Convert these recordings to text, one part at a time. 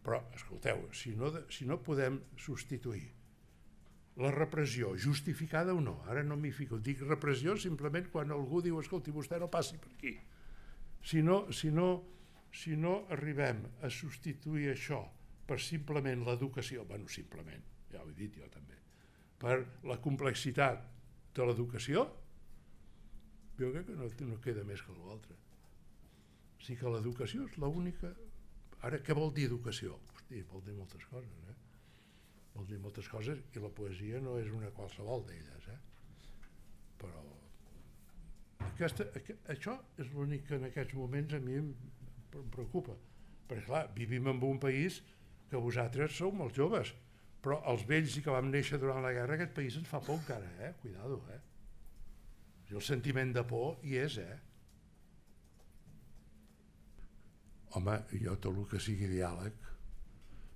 Però, escolteu, si no podem substituir la repressió, justificada o no, ara no m'hi fico, dic repressió simplement quan algú diu, escolti, vostè no passi per aquí. Si no arribem a substituir això per simplement l'educació, bueno, simplement, ja ho he dit jo també, per la complexitat de l'educació, jo crec que no queda més que l'altre. O sigui que l'educació és l'única... Ara, què vol dir educació? Hosti, vol dir moltes coses, Vol dir moltes coses i la poesia no és una qualsevol d'elles, Però això és l'únic que en aquests moments a mi em preocupa. Perquè, clar, vivim en un país que vosaltres sou molt joves, però els vells que vam néixer durant la guerra, aquest país ens fa por encara, Cuidado, I el sentiment de por hi és, Home, jo tot el que sigui diàleg,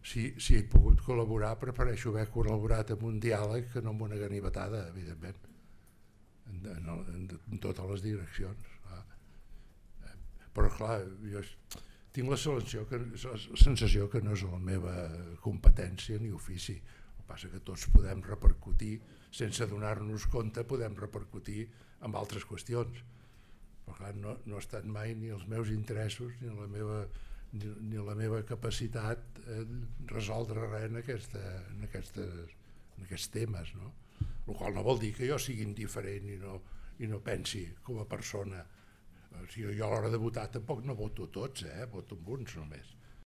si he pogut col·laborar, prefereixo haver col·laborat en un diàleg que no en una ganivetada, evidentment, en totes les direccions. Però, clar, jo tinc la sensació que no és la meva competència ni ofici. El que passa que tots podem repercutir, sense donar-nos compte, podem repercutir en altres qüestions. Però, clar, no ha estat mai ni els meus interessos ni la meva capacitat resoldre res en aquests temes, el qual no vol dir que jo sigui indiferent i no pensi com a persona. Jo a l'hora de votar tampoc no voto tots, voto amb uns només.